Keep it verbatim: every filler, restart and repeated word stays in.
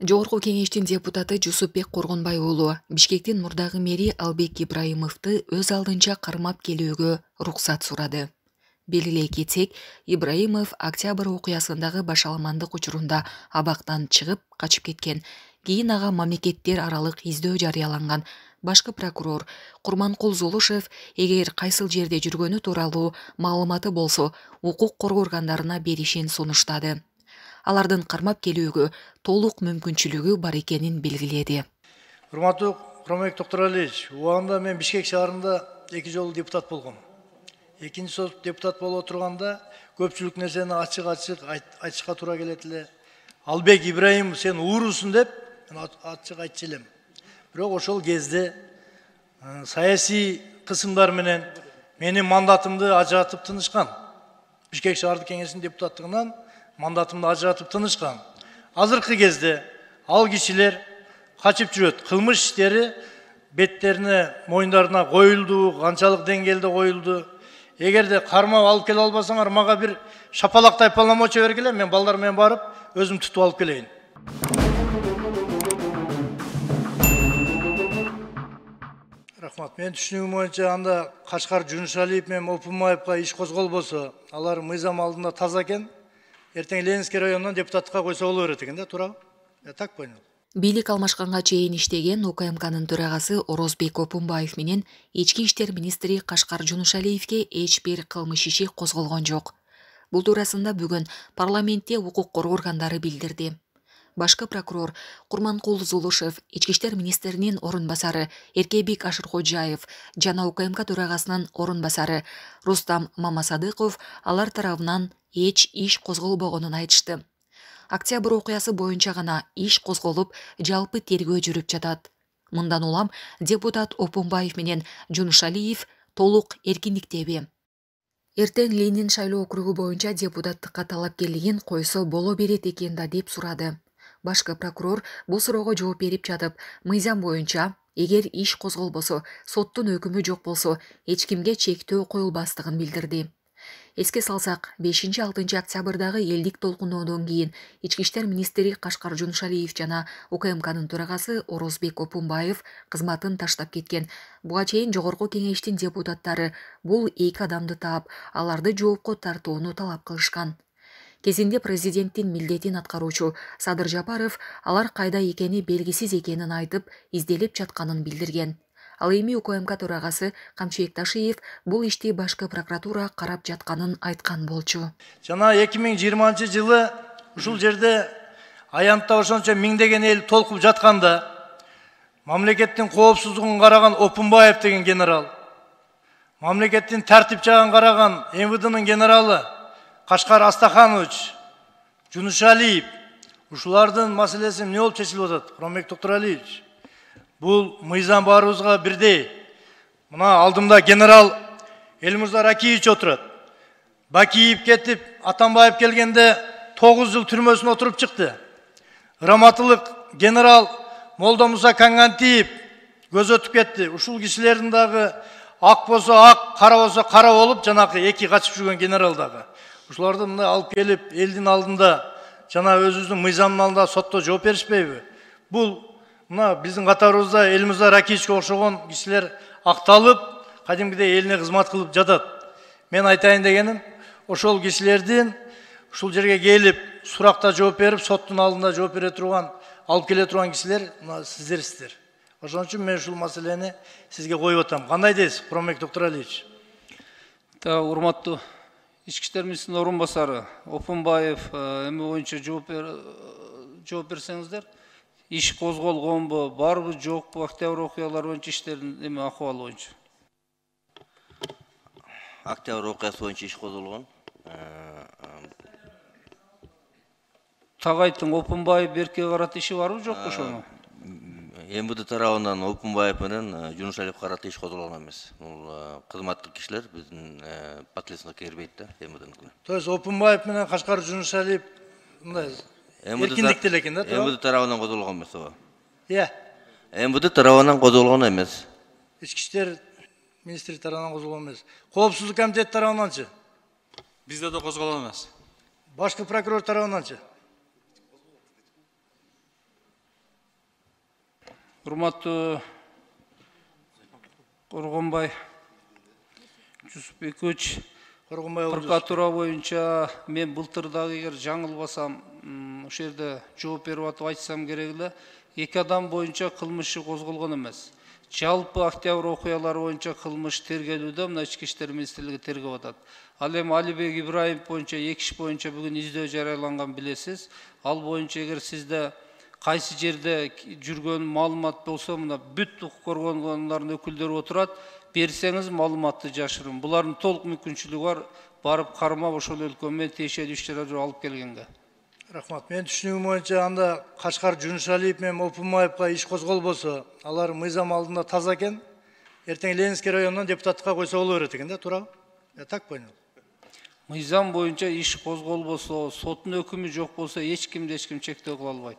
Жогорку кеңештин депутаты Жусупбек Коргонбай уулу Бишкектин мурдагы мэри Албек Ибраимовду өз алдынча кармап келүүгө уруксат сурады. Белгилей кетсек, Ибраимов октябрь окуясындагы башаламандык учурунда абактан чыгып качып кеткен. Кийин ага мамлекеттер аралык издөө жарыяланган. Башкы прокурор Курманкул Зулушев эгер кайсыл жерде жүргөнү тууралуу маалыматы болсо, укук коргоо органдарына беришин сунуштады. Алардын кармап келүүгө толук мүмкүнчүлүгү бар экенин белгиледи. Урматтуу Куромбек Токторалиевич, убагында мен Бишкек шаарында эки жолу депутат болгом. Экинчи сот депутат болуп отурганда көпчүлүк нерсени ачык-ачык айтышка туура келет эле. Албек Ибраимов сен уурусуң деп ачык айтчу элем. Бирок ошол кезде саясий кысымдар менен менин мандатымды ажыратып тынышкан. Бишкек шаардык кеңешинин депутаттыгынан мандатымды ажыратып тынышкан. Азыркы кезде ал кишилер качып жүрөт. Кылмыш иштери беттерине, моюндарына коюлду, канчалык деңгээлде коюлду. Эгерде кармап алып келе албасаңар, мага бир шапалак тайпаламочу бергиле, мен балдар менен барып өзүм тутуп алып келейин. Рахмат. Мен түшүнүгүм боюнча анда Кашкар Жунушалиев менен Опунбаевга иш козголбосо, алар мыйзам алдында таза экен. Эртең Ленинский районунан депутатка койсо боло берет экен да, туурабы? Я так понял. Бийлик алмашканга чейин иштеген У К М К'нын төрагасы Орозбек Опунбаев менен ички иштер министри Кашкар Жунушалиевге эч бир кылмыш иши козголгон жок. Бул туурасында бүгүн парламентте укук коргоо органдары билдирди. Башкы прокурор Курманкул Зулушев, ички иштер министринин орун басары Эркебик Ашыркожаев жана У К М К төрагасынын орун басары Рустам Мамасадыков алар тарабынан эч иш козголбогонун айтышты. Октябрь окуясы боюнча гана иш козголуп, жалпы тергөө жүрүп жатат. Мындан улам депутат Опунбаев менен Жунушалиев толук эркиндиктеби. Эртең Ленин шайлоо округу боюнча депутаттыкка талапкерлигин койсо боло берет экен да деп сурады. Башкы прокурор бул суроого жооп берип жатып, мыйзам боюнча эгер иш козголбосо, соттун өкүмү жок болсо, эч кимге чектөө коюлбастыгын билдирди. Эске салсак, бешинчи-алтынчы октябрдагы элдик толкуноодон кийин ички иштер министри Кашкар Жунушалиев жана У К М К'нын төрагасы Орозбек Опунбаев кызматын таштап кеткен. Буга чейин жогорку кеңештин депутаттары бул эки адамды таап, аларды жоопко тартууну талап кылышкан. Кезинде президенттин милдетин аткаруучу Садыр Жапаров алар кайда экени белгисиз экенин айтып, изделип жатканын билдирген. Ал эми У К М К төрагасы Камчыбек Ташиев бул ишти башкы прокуратура карап жатканын айткан болчу. Жана эки миң жыйырманчы жылы ушул жерде аянтта ошончо миңдеген эл толкуп жатканда мамлекеттин коопсуздугун караган Опунбаев деген генерал, мамлекеттин тартип жагын караган М В Д'нын генералы Кашкар Астаханович, Жунушалиев, ушулардын маселеси эмне болуп чечилип атат? Куромбек Токторалиевич, бул мыйзам баарыбызга бирдей. Мына алдымда генерал Элмурза Ракиевич отурат. Бакиев кетип, Атамбаев келгенде тогуз жыл түрмөсүнө отуруп чыкты. Раматылык генерал Молдомуса Кангантиев көз өтүп кетти. Ушул кишилердин дагы ак болсо ак, кара болсо кара болуп, жанакы эки качып жүргөн генерал дагы. Ушуларды мындай алып келип, элдин алдында, жана өзүбүздүн мыйзамдын алдында сотто жооп беришпейби? Бул мына биздин катарыбызда Элмурза Ракиевичке окшогон кишилер акталып, кадимкидей элине кызмат кылып жатат. Мен айтайын дегеним, ошол кишилердин ушул жерге келип, суракта жооп берип, соттун алдында жооп бере турган, алып келе турган кишилер мына сиздерсиздер. Ошон үчүн мен ушул маселени сизге коюп атам. Кандай дейсиз, Куромбек Токторалиевич? Та урматтуу ички иштер министринин орун басары Опунбаев эме боюнча жооп берсеңиздер, иш козголгонбу, барбы, жокпу, октябрь окуялары боюнча иштердин эме акыбалы боюнча? Октябрь окуясы боюнча иш козголгон. Тагайттын Опунбаев Берке карата иши барбы, жокпу ошону? М В Д тарабынан Опунбаев менен Жунушалиев карата иш козголгон эмес. Бул кызматтык кишилер биздин подследственникке кирбейт да, М В Д'ныкына. То есть Опунбаев менен Кашкар Жунушалиев мындай эркиндикте экен да, М В Д тарабынан козголгон эмес ооба. Иә. М В Д тарабынан козголгон эмес. Ички иштер министри тарабынан козголгон эмес. Коопсуздук комитети тарабынанчы? Бизде да козголгон эмес. Башкы прокурор тарабынанчы? Урматтуу Коргонбай Жусупбекович, Коргонбай Олжос. прокуратура боюнча мен былтыр дагы эгер жаңылбасам, ошол жерде жооп берип атып айтсам керек эле, эки адам боюнча кылмыш иши козголгон эмес. Жалпы октябрь окуялары боюнча кылмыш тергелүүдө мына Ички иштер министрлиги тергеп атат. Ал эми Алибек Ибраимов боюнча эки иш боюнча бүгүн издөө жарыяланган билесиз. Ал боюнча эгер сизде кайсы жерде жүргөн маалымат болсо, мына бүт укук коргоончулардын өкүлдөрү отурат, берсеңиз маалыматты жашырын. Булардын толук мүмкүнчүлүгү бар, барып кармап ошол өлкө менен тиешелүү иш-чараларды алып келгенге. Рахмат. Мен түшүнүгүм боюнча анда Кашкар Жунушалиев менен Опунбаевка иш козголбосо, алар мыйзам алдында таза экен, эртең Ленинский районунан депутаттыкка койсо боло берет экен да, туурабы? Я так понял. Мыйзам боюнча иш козголбосо, соттун өкүмү жок болсо, эч кимди эч ким чектөө кыла албайт.